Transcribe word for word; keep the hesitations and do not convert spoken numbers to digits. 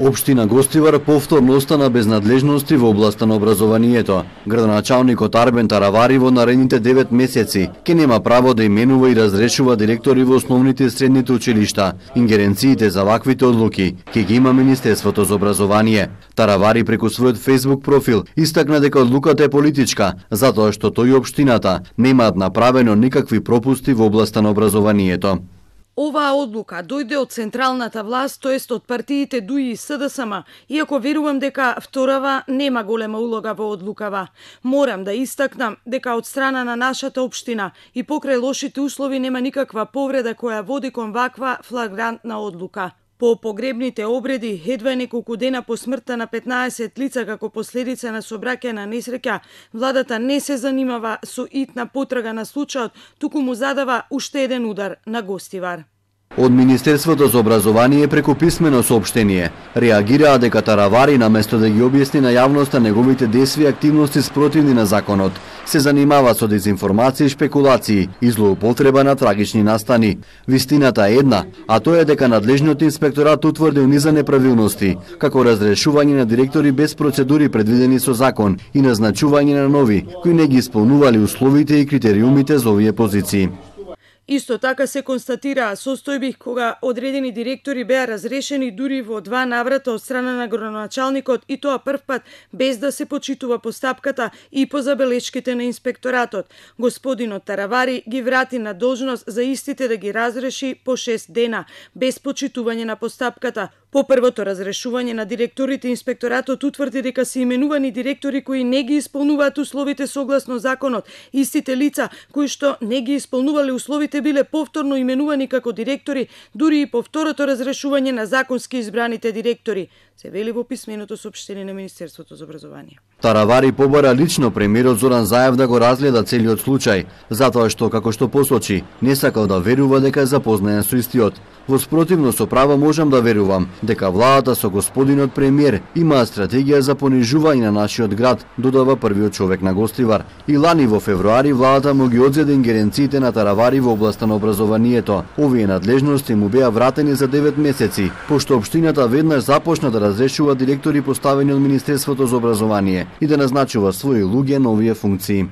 Општина Гостивар повторно остана без надлежности во областа на образованието. Градоначалникот Арбен Таравари во наредните девет месеци ќе нема право да именува и разрешува директори во основните и средните училишта. Ингеренциите за ваквите одлуки ќе ги има Министерството за образование. Таравари преку својот Facebook профил истакна дека одлуката е политичка, затоа што тој и општината немаат направено никакви пропусти во областа на образованието. Оваа одлука дојде од централната власт, тоест од партиите ДУИ и СДСМ, иако верувам дека вторава нема голема улога во одлукава. Морам да истакнам дека од страна на нашата општина и покрај лошите услови нема никаква повреда која води кон ваква флагрантна одлука. По погребните обреди, едва неколку дена по смртта на петнаесет лица како последица на сообраќајна несреќа, владата не се занимава со итна потрага на случајот, туку му задава уште еден удар на Гостивар. Од Министерството за образование преку писмено соопштение реагираа дека Таравари наместо да ги објасни на јавноста неговите действија и активности спротивни на законот, се занимава со дезинформација и шпекулации и злоупотреба на трагични настани. Вистината е една, а тоа е дека надлежниот инспекторат утврдил низа неправилности, како разрешување на директори без процедури предвидени со закон и назначување на нови, кои не ги исполнували условите и критериумите за овие позиции. Исто така се констатираа состојби кога одредени директори беа разрешени дури во два наврата од страна на градоначалникот и тоа првпат без да се почитува постапката и по забелешките на инспекторатот. Господинот Таравари ги врати на должност за истите да ги разреши по шест дена, без почитување на постапката. По првото разрешување на директорите, инспекторатот утврди дека се именувани директори кои не ги исполнуваат условите согласно законот. Истите лица кои што не ги исполнувале условите биле повторно именувани како директори, дури и по второто разрешување на законски избраните директори, се вели во писменото соопштение на Министерството за образование. Таравари побара лично премиерот Зоран Заев да го разгледа целиот случај, затоа што, како што посочи, не сакал да верува дека е запознаен со истиот. Во спротивно со право можам да верувам дека владата со господинот премиер има стратегија за понижување на нашиот град, додава првиот човек на Гостивар. И лани во февруари владата му ги одзеде ингеренциите на Таравари во областа на образованието. Овие надлежности му беа вратени за девет месеци, пошто општината веднаш започна да разрешува директори поставени од Министерството за образование и да назначува своји луѓе на овие функции.